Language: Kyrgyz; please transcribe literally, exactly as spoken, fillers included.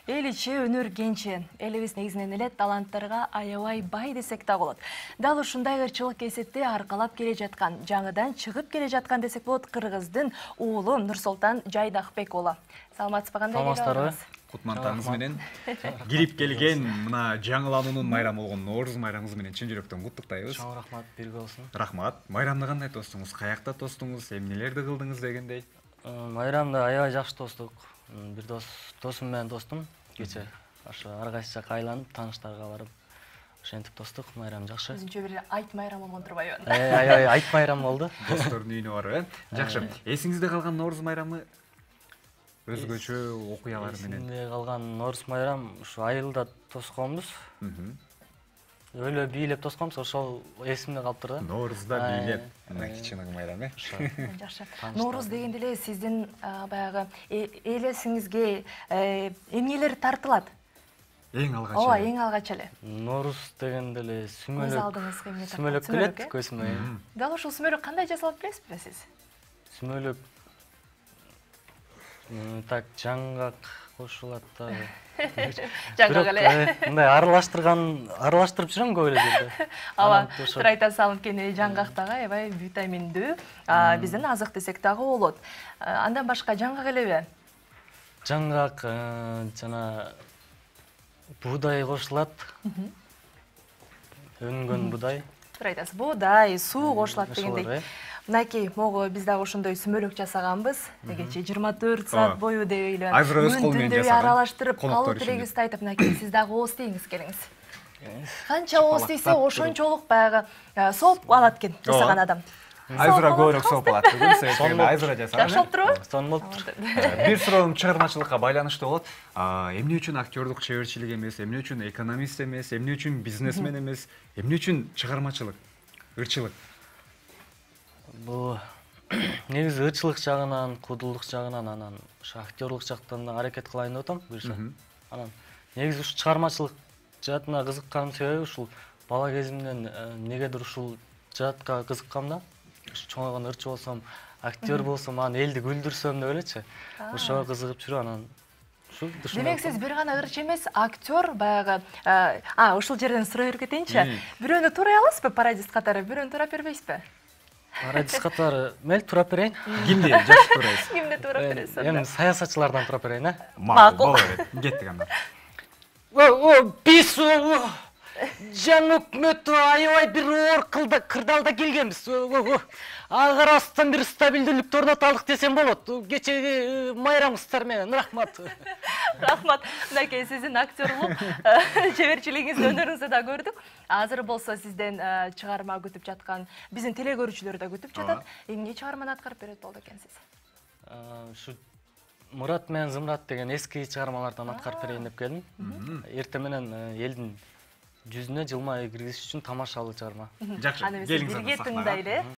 Эл ичи өнөр кенчи, элибиз негизинен эле таланттарга аябай бай десек да болот. Дал ушундай ырчылык кесипти аркалап келе жаткан, жаңыдан чыгып келе жаткан десек болот кыргыздын уулу Нурсултан Жайдакбек уулу. Саламатсызбы, кандай Саламатсыздарбы? Кутмантарыңыз менен кирип келген мына жаңылануунун майрамы болгон Нооруз майрамыңыз менен чын жүрөктөн куттуктайбыз. Чоң рахмат, бирге болсун. Рахмат. Майрамды кандай тостуңуз? Каякта тостуңуз? Эмнелерди кылдыңыз дегендей? Майрамды аябай жакшы тостук. Бир дос досум менен тостум. Кече ошо ар кайсы жакка айланып, тааныштарга барып, ошентип тостук. Майрам жакшы. Өзүнчө бир айт майрам болгон турбайбы? Аябай айт майрам болду. Достордун үйүнө барып, э? Жакшы. Эсиңизде калган Нооруз майрамы өзгөчө окуялар менен? Эсимде калган Нооруз майрам ушу айылда тосконбуз. Өлө бийлеп тосконбуз, ошол эсимде калыптыр да. Ноорузда бийлеп, мына кичине майрам, э? Жакшы. Нооруз дегенде эле сиздин баягы эл эсиңизге эмнелер тартылат? Эң алгач. Ооба, эң алгач эле. Нооруз дегенде эле Көз сүмөлөк. алдыңызга эмне тартат? Сүмөлөк келет көзүмө. Дал ушул сүмөлөк кандай жасалат билесизби сиз? Сүмөлөк так жаңгак кошулат да. Жаңгак эле. Мындай аралаштырган, аралаштырып жүрөм көп эле жерде. Ооба, трайта салып кene жаңгак дагы аябай витаминдүү, биздин азык десек дагы болот. Андан башка жаңгак элеби? Жаңгак жана буудай кошулат. Өнгөн буудай. Трайтасы буудай, суу кошулат дегендей. Мынакей, могу биз дагы ошондой сүмөлөк жасаганбыз. Кече жыйырма төрт саат бою деп эле. Азыр өз кол менен жасаган. Аралаштырып, калуу тилегибизди айтып, мынакей сиз дагы ооз тийиңиз келиңиз. Канча ооз тийсе, ошончолук баягы сооп алат экен жасаган адам. Айзыра көбүрөөк сооп алат бүгүн, себеби айзыра жасаган. Жакшы болуп турбу? Сонун болуптур. Бир суроом чыгармачылыкка байланыштуу болот. Эмне үчүн актерлук чеберчилик эмес, эмне үчүн экономист эмес, эмне үчүн бизнесмен эмес, эмне үчүн чыгармачылык, ырчылык? Бул негизи ырчылык жагынан, куудулдук жагынан, анан ошо актерлук жактан да аракет кылайын деп атам буюрса. Анан негизи ушу чыгармачылык жаатына кызыкканым себеби ушул бала кезимден негедир ушул жаатка кызыккам да. Чоңойгондо ырчы болсом, актер болсом, анан элди күлдүрсөм деп элечи. Ошого кызыгып жүрүп анан ушул душман. Демек сиз бир гана ырчы эмес, актер, баягы, а, ушул жерден сурай кетейинчи. Бирөөнү турай аласызбы пародист катары, бирөөнү турап бербейсизби? Пародист катары мел турап берейин. Кимди жакшы турайсыз? Кимди турап бересиз? Эми саясатчылардан турап берейин, э? Макул, боло берет. Кеттик анда. О, бис жаңы өкмөтү аябай бир оор кырдаалда келгенбиз. Ага карабастан бир стабилдүүлүктү орното алдык десем болот. Кечеги майрамыңыздар менен рахмат. Рахмат. Мынакей сиздин актерлук чеберчилигиңизди, өнөрүңүздү да көрдүк. Азыр болсо сизден чыгарма күтүп жаткан, биздин телекөрүүчүлөр да күтүп жатат. Эмне чыгарманы аткарып берет болду экенсиз? Ушу Мурат менен Зымрат деген эски чыгармалардан аткарып берейин деп келдим. Эртең менен элдин жүзүнө жылмайы киргизиш үчүн тамашалуу чыгарма. Жакшы, келиңиз анда сахнага.